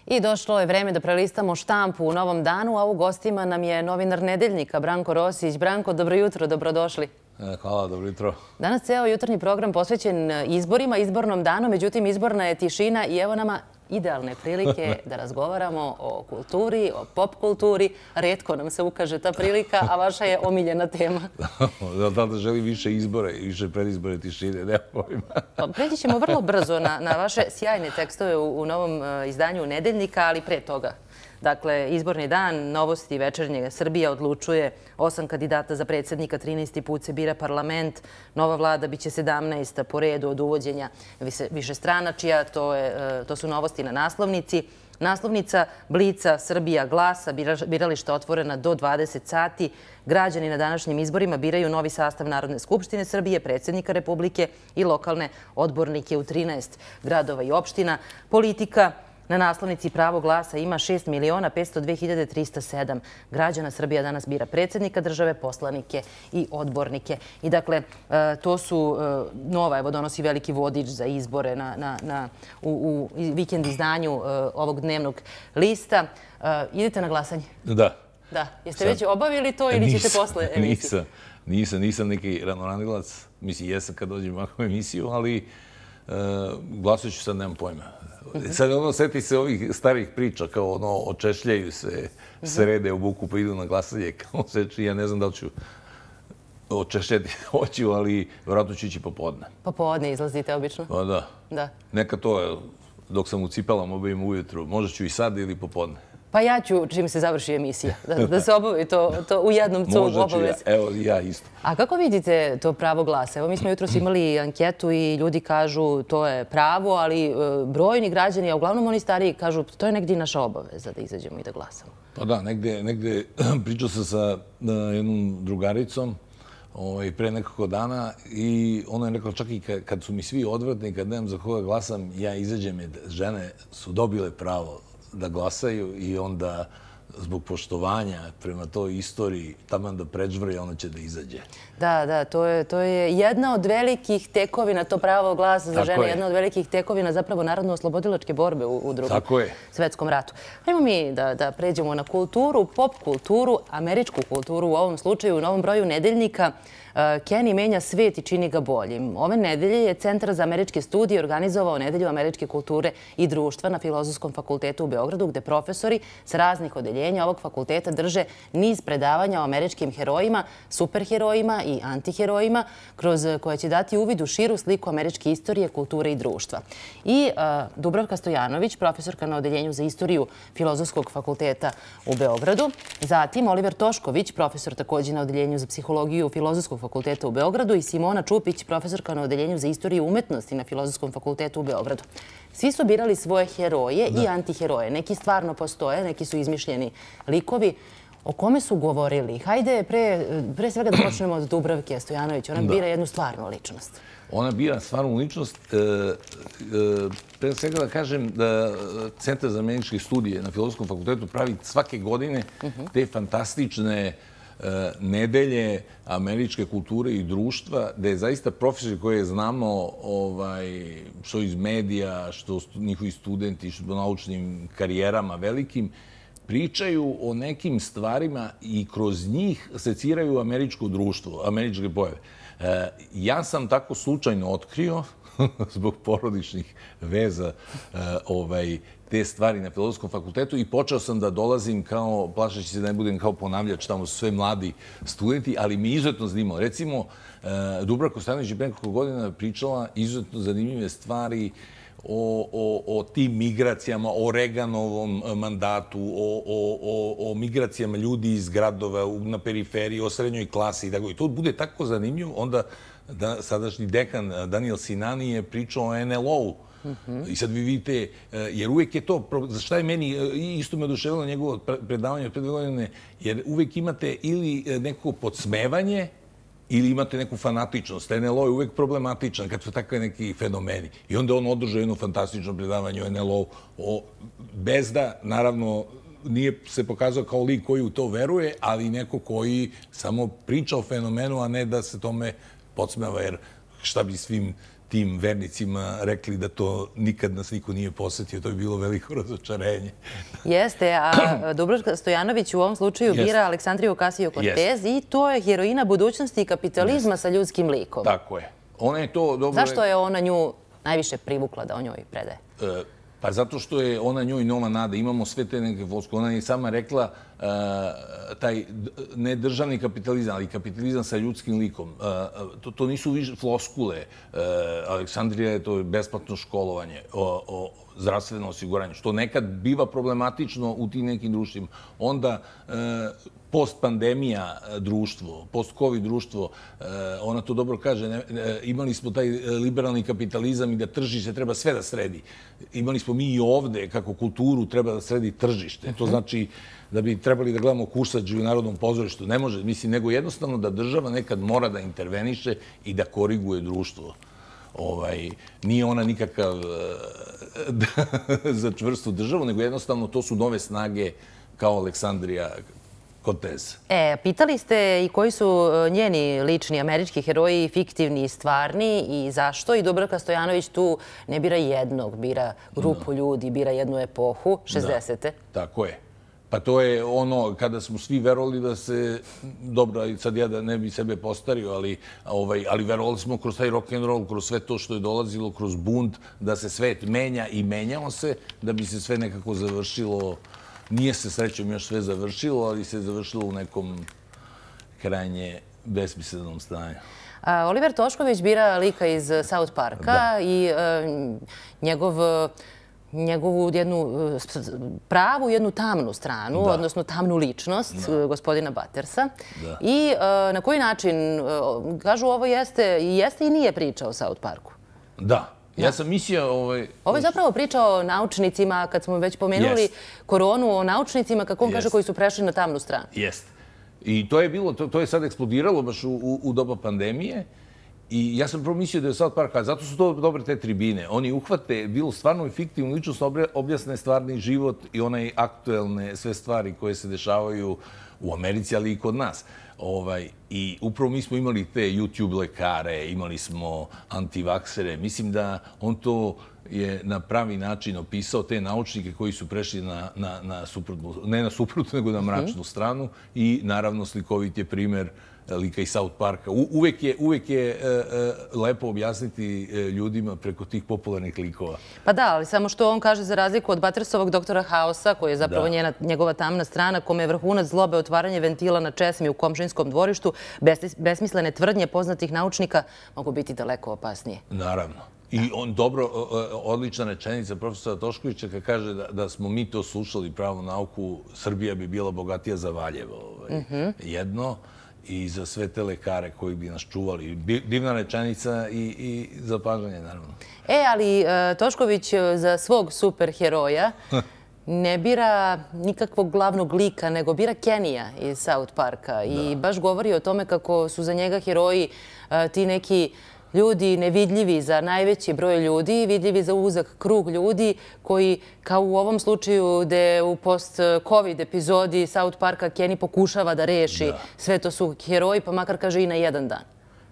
I došlo je vreme da prelistamo štampu u Novom danu, a u gostima nam je novinar Nedeljnika Branko Rosić. Branko, dobro jutro, dobrodošli. Hvala, dobro jutro. Danas ceo jutarnji program posvećen izborima, izbornom danu, međutim izborna je tišina i evo nama idealne prilike da razgovaramo o kulturi, o pop kulturi. Retko nam se ukaže ta prilika, a vaša je omiljena tema. Da želi više izbore i više predizbore tišine, nema pojma. Preći ćemo vrlo brzo na vaše sjajne tekstove u novom izdanju Nedeljnika, ali pre toga. Dakle, izborni dan, novosti večernje. Srbija odlučuje 8 kandidata za predsjednika, 13. put se bira parlament, nova vlada biće 17. po redu od uvođenja višestranačija, to su novosti na naslovnici. Naslovnica Blica, Srbija glasa, birališta otvorena do 20 sati. Građani na današnjim izborima biraju novi sastav Narodne skupštine Srbije, predsjednika Republike i lokalne odbornike u 13 gradova i opština. Politika. Na naslovnici Pravo glasa ima 6.502.307 građana. Srbija danas bira predsjednika države, poslanike i odbornike. I dakle, to su nova, evo donosi veliki vodič za izbore u vikend izdanju ovog dnevnog lista. Idete na glasanje? Da. Da. Jeste već obavili to ili ćete posle emisije? Nisam neki ranoranilac. Mislim, jesam kad dođem ovakvu emisiju, ali glasat ću sad, nemam pojma. Sad seti se ovih starih priča, kao očešljaju se, srede u buku pa idu na glasanje, kao seči, ja ne znam da li ću očešljati, hoću, ali vjerojatno ću ići popodne. Popodne izlazite obično? Pa da. Da. Neka to, dok sam u cipelama obavim ujutru, možda ću i sad ili popodne. Pa ja ću, čim se završi emisija, da se obavi to u jednom cu obavez. Možda ću ja, evo ja isto. A kako vidite to pravo glasa? Evo mi smo jutros imali anketu i ljudi kažu to je pravo, ali brojni građani, a uglavnom oni stariji, kažu to je negdje naša obaveza da izađemo i da glasamo. Pa da, negde pričao sam sa jednom drugaricom pre nekoliko dana i ona je rekla čak i kad su mi svi odvratni, kad nemam za koga glasam, ja izađem jer žene su dobile pravo da glasaju i onda zbog poštovanja prema toj istoriji taman da pređvrje, ona će da izađe. Da, to je jedna od velikih tekovina, to pravo glasa za žene, jedna od velikih tekovina zapravo narodno-oslobodilačke borbe u Drugom svetskom ratu. Hajmo mi da pređemo na kulturu, pop kulturu, američku kulturu u ovom slučaju, u novom broju Nedeljnika. Kenny menja svet i čini ga boljim. Ove nedelje je Centar za američke studije organizovao Nedelju američke kulture i društva na Filozofskom fakultetu u Beogradu, gde profesori sa raznih odeljenja ovog fakulteta drže niz predavanja o američkim herojima, superherojima i antiherojima, kroz koje će dati uvid u širu sliku američke istorije, kulture i društva. I Dubravka Stojanović, profesorka na odeljenju za istoriju Filozofskog fakulteta u Beogradu. Zatim Oliver Tošković, profesor također na odeljenju za psihologiju Filozofskog fakulteta u Beogradu i Simona Čupić, profesorka na odeljenju za istoriju umetnosti na Filozofskom fakultetu u Beogradu. Svi su birali svoje heroje i antiheroje. Neki stvarno postoje, neki su izmišljeni likovi. O kome su govorili? Hajde pre svega da počnemo od Dubravke Stojanović. Ona bira jednu stvarnu ličnost. Ona bira stvarnu ličnost. Pre svega da kažem da Centar za američke studije na Filozofskom fakultetu pravi svake godine te fantastične nedelje američke kulture i društva, da je zaista profesori koje znamo što iz medija, što njihovi studenti, što naučnim karijerama velikim, pričaju o nekim stvarima i kroz njih seciraju američko društvo, američke pojave. Ja sam tako slučajno otkrio, zbog porodičnih veza, te stvari na Filozofskom fakultetu i počeo sam da dolazim kao, plašeći se da ne budem kao ponavljač, tamo su sve mladi studenti, ali mi izuzetno zanimalo. Recimo, Dubravka Stojanović je pre nekoliko godina pričala izuzetno zanimljive stvari o tim migracijama, o Reaganovom mandatu, o migracijama ljudi iz gradova na periferiji, o srednjoj klasi i tako. I to bude tako zanimljivo, onda sadašnji dekan Daniel Sinani je pričao o NLO-u. I sad vi vidite, jer uvek je to, za šta je meni, isto me oduševilo njegovo predavanje od 5 godine, jer uvek imate ili neko podsmevanje, ili imate neku fanatičnost. NLO je uvek problematičan kad su takve neki fenomeni. I onda on održao jedno fantastično predavanje o NLO, bez da, naravno, nije se pokazao kao lik koji u to veruje, ali neko koji samo priča o fenomenu, a ne da se tome podsmeva, jer šta bi svim tim vernicima rekli da to nikad nas niko nije posetio. To je bilo veliko razočarenje. Jeste, a Dubravka Stojanović u ovom slučaju bira Aleksandriju Ocasio-Cortez i to je heroina budućnosti i kapitalizma sa ljudskim likom. Tako je. Ona je to dobro... Zašto je ona nju najviše privukla da o njoj predaje? Pa zato što je ona njoj nova nada. Imamo sve te neke floskule. Ona je sama rekla taj ne državni kapitalizam, ali kapitalizam sa ljudskim likom. To nisu više floskule. Aleksandrija je to besplatno školovanje, zdravstveno osiguranje, što nekad biva problematično u tim nekim društvima. Onda post-pandemija društvo, post-covid društvo, ona to dobro kaže, imali smo taj liberalni kapitalizam i da tržište treba sve da sredi. Imali smo mi i ovde, kako kulturu treba da sredi tržište. To znači da bi trebali da gledamo kursađe u Narodnom pozorištu. Ne može, mislim, nego jednostavno da država nekad mora da interveniše i da koriguje društvo. Nije ona nikakav za čvrstu državu, nego jednostavno to su nove snage kao Aleksandrija Cortez. Pitali ste i koji su njeni lični američki heroji, fiktivni i stvarni i zašto? I Dubravka Stojanović tu ne bira jednog, bira grupu ljudi, bira jednu epohu, 60. Tako je. Pa to je ono kada smo svi verovali da se, dobro, sad ja da ne bi sebe postario, ali verovali smo kroz taj rock'n'roll, kroz sve to što je dolazilo, kroz bunt, da se svet menja i menjao se, da bi se sve nekako završilo. Nije se srećom još sve završilo, ali se završilo u nekom krajnje besmislenom stanju. Oliver Tošković bira lika iz South Parka i njegovu jednu pravu, jednu tamnu stranu, odnosno tamnu ličnost gospodina Buttersa. I na koji način, kažu, ovo jeste i nije priča o South Parku. Da. Ja sam mislio... Ovo je zapravo priča o naučnicima, kad smo već pomenuli koronu, o naučnicima, kako on kaže, koji su prešli na tamnu stranu. Jeste. I to je bilo, to je sad eksplodiralo baš u doba pandemije. I ja sam prvo mislio da je South Park, a zato su to dobre te tribine. Oni uhvate, bilo stvarno i fiktivno ličnost, objasne stvarni život i onaj aktuelne sve stvari koje se dešavaju u Americi, ali i kod nas. I upravo mi smo imali te YouTube lekare, imali smo antivaksere. Mislim da on to je na pravi način opisao, te naučnike koji su prešli na suprotnu, ne na suprotnu, nego na mračnu stranu. I naravno slikovit je primer lika iz South Parka. Uvek je lepo objasniti ljudima preko tih popularnih likova. Pa da, ali samo što on kaže za razliku od Buttersovog doktora Hausa, koji je zapravo njegova tamna strana, kome je vrhunac zlobe otvaranje ventila na česmi u komšinskom dvorištu, besmislene tvrdnje poznatih naučnika mogu biti daleko opasnije. Naravno. I on dobro, odlična rečenica profesora Toškovića kad kaže da smo mi to slušali pravu nauku, Srbija bi bila bogatija za Valjevo. Jedno. I za sve te lekare koji bi nas čuvali. Divna rečenica i zapažanje, naravno. Ali Tošković za svog superheroja ne bira nikakvog glavnog lika, nego bira Kenija iz South Parka. I baš govori o tome kako su za njega heroji ti neki ljudi nevidljivi za najveći broj ljudi, vidljivi za uzak krug ljudi koji, kao u ovom slučaju gde u post-covid epizodi South Parka Kenny pokušava da reši sve to su heroji, pa makar kaže i na jedan dan.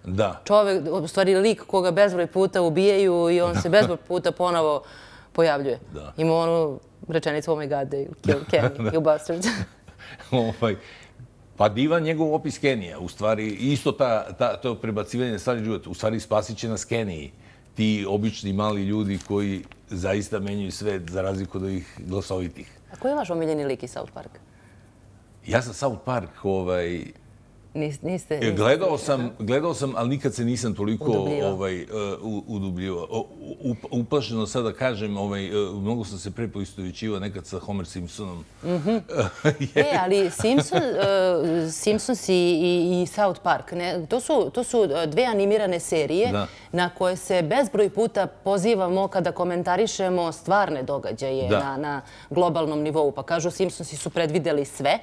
Da. Čovek, u stvari lik koga bezbroj puta ubijaju i on se bezbroj puta ponovo pojavljuje. Ima onu rečenicu "Oh my God, they killed Kenny, you bastards." Pa divan njegov opis Kenija. U stvari, isto to prebacivanje stvari života. U stvari, spasit će nas Keniji. Ti obični mali ljudi koji zaista menjaju svet za razliku od ovih glasovitih. A koji je vaš omiljeni lik iz South Parka? Ja sam South Park, Niste... Gledao sam, ali nikad se nisam toliko udubljivao. Uplašeno sad da kažem, mnogo sam se pre poistovećivao nekad sa Homer Simpsonom. Ali Simpsons i South Park, to su dve animirane serije na koje se bezbroj puta pozivamo kada komentarišemo stvarne događaje na globalnom nivou. Pa kažu, Simpsonsi su predvideli sve.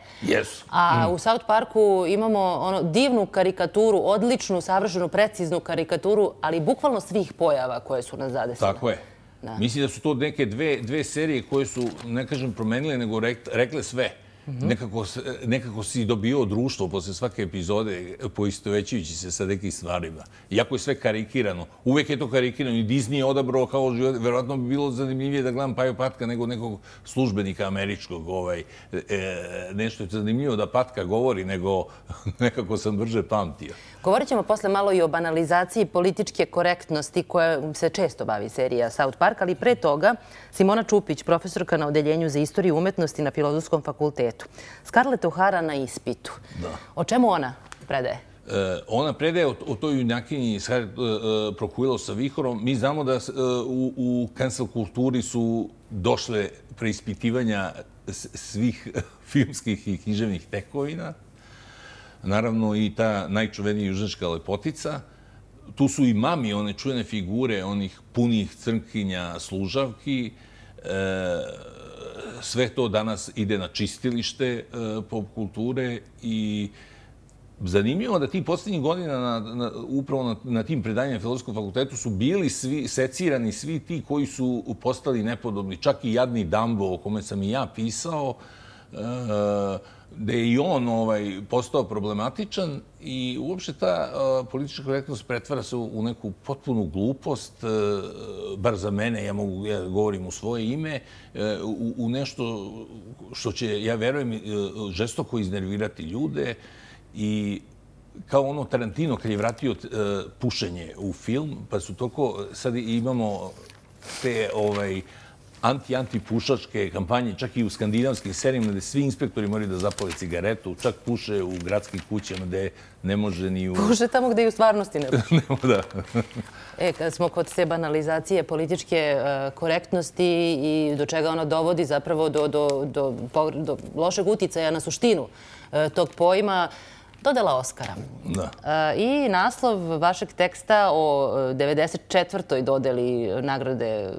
A u South Parku imamo divnu karikaturu, odličnu, savršenu, preciznu karikaturu, ali bukvalno svih pojava koje su nas zadesile. Tako je. Mislim da su to neke dve serije koje su, ne kažem promenile, nego rekle sve. nekako si dobio društvo posle svake epizode poistovećujući se sa nekim stvarima. Iako je sve karikirano. Uvek je to karikirano i Disney je odabrao kao život. Verovatno bi bilo zanimljivije da gledam Paju Patka nego nekog službenika američkog. Nešto je zanimljivo da Patka govori, nego nekako sam brže pamtio. Govorit ćemo posle malo i o banalizaciji političke korektnosti koja se često bavi serija South Park, ali pre toga Simona Čupić, profesorka na Odeljenju za istoriju umetnosti na Filozofskom fakultetu. Scarlett O'Hara na ispitu. O čemu ona predaje? Ona predaje o toj junakinji Prokuilo sa vihorom. Mi znamo da u cancel kulturi su došle preispitivanja svih filmskih i književnih tekovina. Naravno i ta najčuvenija južnjačka lepotica. Tu su i mami, one čuvene figure, onih punih crnkinja, služavki. Sve to danas ide na čistilište pop kulture i zanimljivo da ti posljednjih godina upravo na tim predanjima na Filozofskom fakultetu su bili secirani svi ti koji su postali nepodobni. Čak i jadni Dumbo, o kome sam i ja pisao, da je i on postao problematičan i uopšte ta politička korektnost pretvara se u neku potpunu glupost, bar za mene, ja govorim u svoje ime, u nešto što će, ja verujem, žestoko iznervirati ljude i kao ono Tarantino kad je vratio pušenje u film, pa su toliko, sad imamo te anti-pušačke kampanje, čak i u skandinavskim serijama gde svi inspektori moraju da zapale cigaretu, čak puše u gradskim kućama gde ne može ni u... Puše tamo gde i u stvarnosti ne puše. Da. Kad smo kod te banalizacije političke korektnosti i do čega ona dovodi zapravo do lošeg uticaja na suštinu tog pojma, dodela Oskara. I naslov vašeg teksta o 94. dodeli nagrade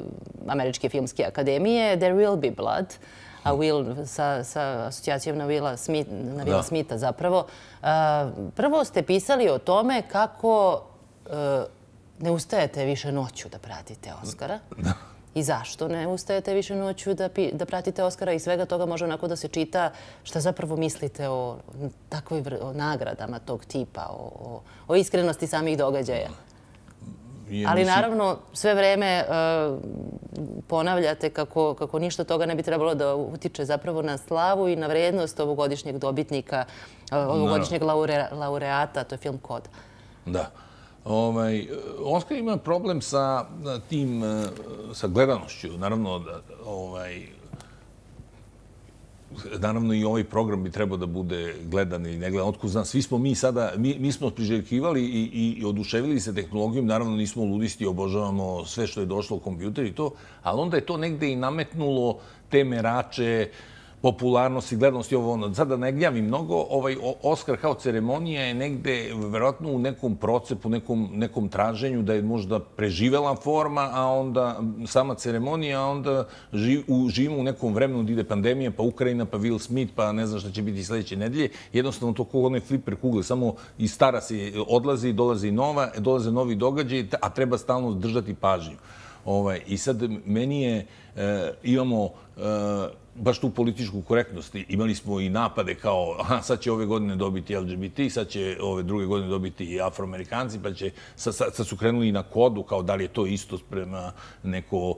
Američke filmske akademije, There Will Be Blood, a Will sa asocijacijom na Willa Smitha zapravo. Prvo ste pisali o tome kako ne ustajete više noću da pratite Oskara. I zašto ne ustajete više noću da pratite Oskara i svega toga može onako da se čita šta zapravo mislite o nagradama tog tipa, o iskrenosti samih događaja. Ali naravno sve vreme ponavljate kako ništa toga ne bi trebalo da utiče zapravo na slavu i na vrednost ovogodišnjeg dobitnika, ovogodišnjeg laureata, to je film Kod. Da. Oskar ima problem sa gledanošću. Naravno i ovaj program bi trebao da bude gledan ili ne gledan. Otkud znam, svi smo mi sada, mi smo priželjkivali i oduševili se tehnologijom. Naravno nismo ludisti, obožavamo sve što je došlo u kompjuter i to, ali onda je to negde i nametnulo te merače, popularnost i gledanost i ovo ono. Sad da ne gnjavim mnogo, Oskar kao ceremonija je negde verovatno u nekom procepu, nekom traženju da je možda preživela forma, a onda sama ceremonija, a onda živimo u nekom vremenu da ide pandemija, pa Ukrajina, pa Will Smith, pa ne znam šta će biti sledeće nedelje. Jednostavno to kao onaj fliper kugle, samo iz stara se odlazi, dolaze novi događaji, a treba stalno držati pažnju. I sad meni imamo baš tu političku korektnost. Imali smo i napade kao sad će ove godine dobiti LGBT, sad će ove druge godine dobiti i Afroamerikanci, pa će, sad su krenuli i na Kodu, kao da li je to isto prema neko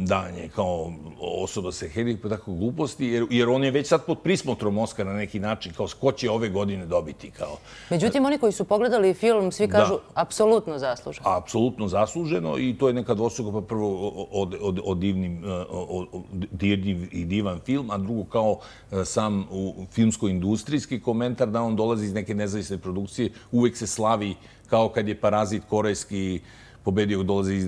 danje kao osoba sa hendikepom, pa tako gluposti, jer on je već sad pod prismotrom Oskara na neki način, kao ko će ove godine dobiti. Međutim, oni koji su pogledali film, svi kažu apsolutno zasluženo. Apsolutno zasluženo i to je neka dvostruko, pa prvo dirljiv i divan film, a drugo kao sam filmsko-industrijski komentar da on dolazi iz neke nezavisne produkcije, uvek se slavi kao kad je Parazit korejski pobedio, dolazi iz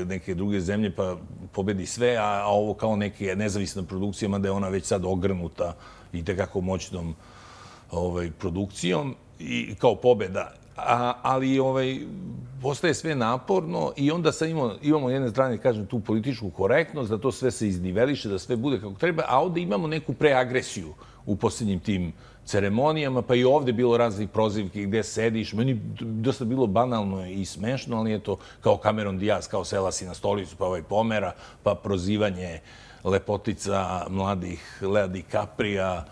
neke druge zemlje, pa pobedi sve, a ovo kao neke nezavisna produkcija, mada je ona već sad ogrnuta i tekako moćnom produkcijom i kao pobeda. Ali postaje sve naporno i onda sad imamo jedne strane, kažem, tu političku korektnost, da to sve se izniveliše, da sve bude kako treba, a ovde imamo neku preagresiju u posljednjim tim ceremonijama, pa i ovde bilo raznih prozivki gde sediš. Meni dosta bilo banalno i smešno, ali je to kao Cameron Diaz, kao sela si na stolicu, pa pomera, pa prozivanje lepotica mladih Lea DiCaprija,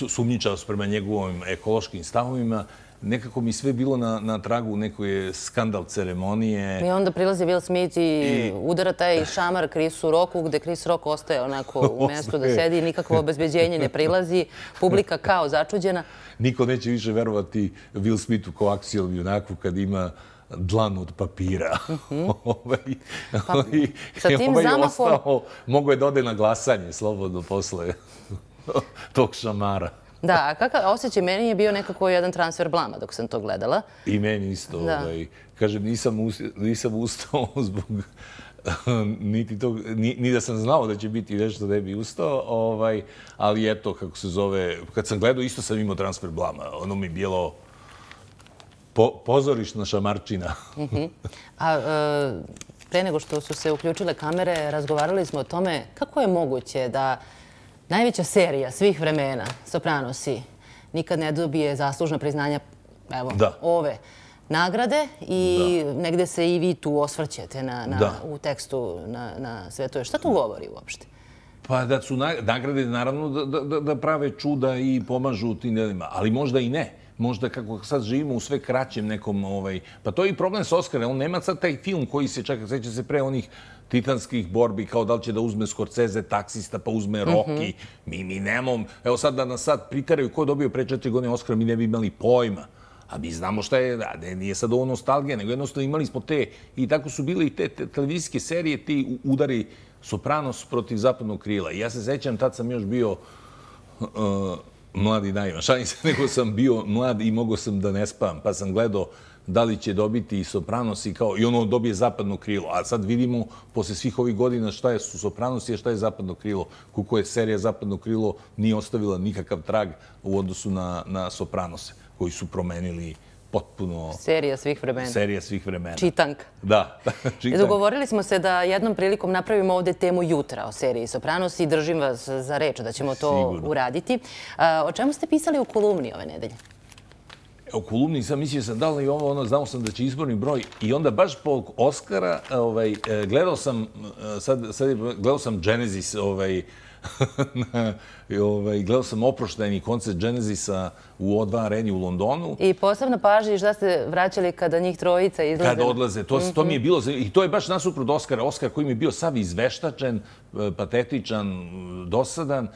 sumnjičavost prema njegovim ekološkim stavovima. Nekako mi sve bilo na tragu nekoj skandal ceremonije. I onda prilazi Will Smith i udara taj šamar Chrisu Rocku, gde Chris Rock ostaje onako u mjestu da sedi, nikakvo obezbeđenje ne prilazi, publika kao začuđena. Niko neće više verovati Will Smithu kao akcijom junaku kad ima dlan od papira. Sa tim zamahom... Mogu je da ode na glasanje slobodno posle tog šamara. Da, a kakav osjećaj? Meni je bio nekako jedan transfer blama dok sam to gledala. I meni isto. Kažem, nisam ustao zbog... Ni da sam znao da će biti nešto da bi ustao, ali eto, kako se zove, kad sam gledao, isto sam imao transfer blama. Ono mi je bilo pozorišna šamarčina. A pre nego što su se uključile kamere, razgovarali smo o tome kako je moguće da najveća serija svih vremena, Sopranosi, nikad ne dobije zaslužna priznanja, evo, ove nagrade i negde se i vi tu osvrćete u tekstu na sve to. Šta to govori uopšte? Pa da su nagrade, naravno, da prave čuda i pomažu tim delima, ali možda i ne. Možda kako sad živimo u sve kraćem nekom... Pa to je i problem s Oscara. On nema sad taj film koji se čeka, seća se pre onih titanskih borbi, kao da li će da uzme Scorsese taksista, pa uzme Rocky. Mi nemamo... Evo sad da nas sad pritaraju ko je dobio pre 4 godine Oscara, mi ne bi imali pojma. A mi znamo šta je, nije sad ovo nostalgija, nego jednostavno imali smo te... I tako su bile i te televizijske serije, ti udari Sopranos protiv Zapadnog krila. I ja se sećam, tad sam još bio... mladi naivan. Šalim se, nego sam bio mlad i mogao sam da ne spavam. Pa sam gledao da li će dobiti Sopranos i ono dobije Zapadno krilo. A sad vidimo, posle svih ovih godina, šta su Sopranosi, a šta je Zapadno krilo. Kako je serija Zapadno krilo nije ostavila nikakav trag u odnosu na Sopranose, koji su promenili potpuno... Serija svih vremena. Serija svih vremena. Čitanka. Da, čitanka. Dogovorili smo se da jednom prilikom napravimo ovde temu jutra o seriji Sopranos i držim vas za reč da ćemo to uraditi. O čemu ste pisali u kolumni ove nedelje? U kolumni sam mislio sam da li i ovo, znao sam da će izborni broj i onda baš po Oscara gledao sam Genesis, gledao sam oproštajni koncert Genesisa u O2 areni u Londonu. I posebno pažnji šta ste vraćali kada njih trojica izlaze? Kada odlaze. To mi je bilo... I to je baš nasuprot Oskara. Oskar koji mi je bio sav izveštačen, patetičan, dosadan.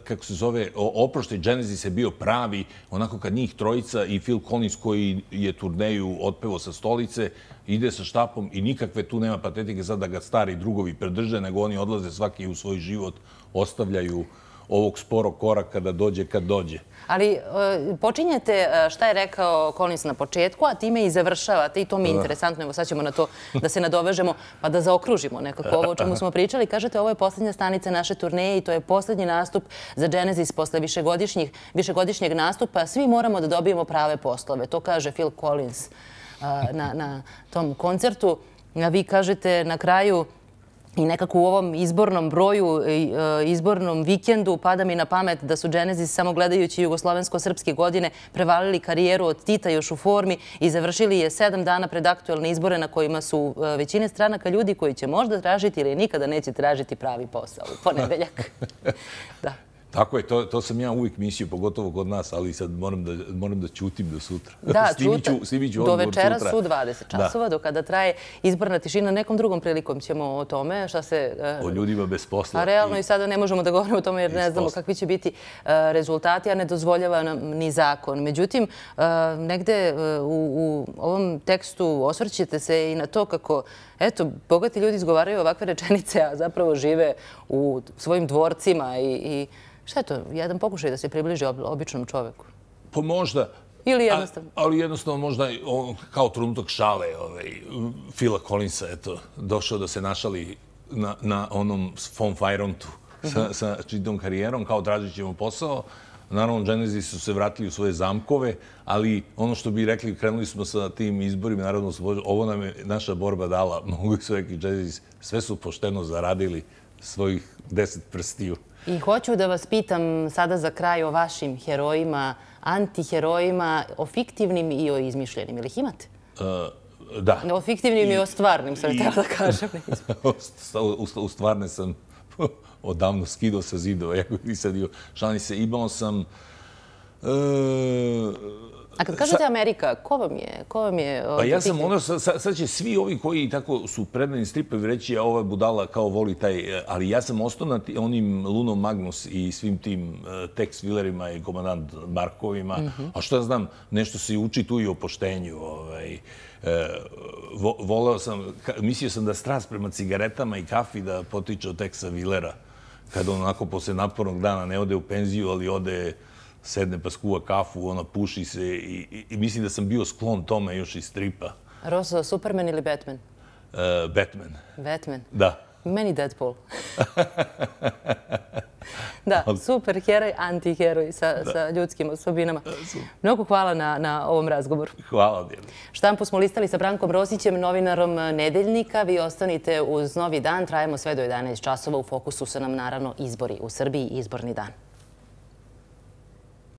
Kako se zove, oproštaj Genesis je bio pravi. Onako kad njih trojica i Phil Collins koji je turneju otpevao sa stolice, ide sa štapom i nikakve tu nema patetike sad da ga stari drugovi predrže, nego oni odlaze svaki u svoj život, ostavljaju ovog sporog koraka da dođe kad dođe. Ali počinjete šta je rekao Collins na početku, a time i završavate i to mi je interesantno. Evo sad ćemo na to da se nadovežemo pa da zaokružimo nekako ovo o čemu smo pričali. Kažete, ovo je posljednja stanica naše turneje i to je posljednji nastup za Genesis posle višegodišnjeg nastupa. Svi moramo da dobijemo prave poslove. To kaže Phil Collins na tom koncertu. Vi kažete na kraju i nekako u ovom izbornom broju, izbornom vikendu pada mi na pamet da su Genesis samo gledajući jugoslovensko-srpske godine prevalili karijeru od Tita još u formi i završili je 7 dana pred aktuelne izbore na kojima su većine stranaka ljudi koji će možda tražiti ili nikada neće tražiti pravi posao u ponedeljak. Da. Tako je, to sam ja uvijek mislio, pogotovo kod nas, ali sad moram da ćutim do sutra. Da, do večera su 20 časova, do kada traje izborna tišina. Nekom drugom prilikom ćemo o tome, šta se... O ljudima bez posla. A realno i sada ne možemo da govorimo o tome jer ne znamo kakvi će biti rezultati, a ne dozvoljava nam ni zakon. Međutim, negde u ovom tekstu osvrćete se i na to kako, eto, bogati ljudi izgovaraju ovakve rečenice, a zapravo žive u svojim dvorcima i šta je to? Jedan pokušaj da se približi običnom čoveku? Pa možda. Ili jednostavno? Ali jednostavno možda kao trenutak šale Phila Collinsa, eto, došao da se našali na onom Von Feirontu sa čitom karijerom, kao tražit ćemo posao. Naravno, Genesis su se vratili u svoje zamkove, ali ono što bi rekli, krenuli smo sa tim izborima, naravno, ovo nam je naša borba dala, mogu su rekli Genesis, sve su pošteno zaradili svojih 10 prstiju. I hoću da vas pitam sada za kraj o vašim herojima, antiherojima, o fiktivnim i o izmišljenim. Ili ih imate? Da. O fiktivnim i o stvarnim, sam htjela da kažem. U stvarne sam odavno skidao sa zidova, jako nisam dio šalnice. Imao sam... A kad kažete Amerika, ko vam je... Pa ja sam ono, sad će svi ovi koji tako su predani stripovi reći, a ova budala kao voli taj, ali ja sam ostao na onim Luno Magnus i svim tim Tex Willerima i komandant Markovima, a što ja znam, nešto se uči tu i o poštenju. Voleo sam, mislio sam da strast prema cigaretama i kafi da potiče od Texa Willera, kada on onako posle napornog dana ne ode u penziju, ali ode... sedne pa skuva kafu, ona puši se i mislim da sam bio sklon tome još iz stripa. Rosso, Superman ili Batman? Batman. Batman? Da. Meni Deadpool. Da, super heroj, antiheroj sa ljudskim osobinama. Mnogo hvala na ovom razgovoru. Hvala, Dijana. Štampu smo listali sa Brankom Rosićem, novinarom Nedeljnika. Vi ostanite uz Novi dan. Trajemo sve do 11 časova. U fokusu su nam naravno izbori u Srbiji i izborni dan.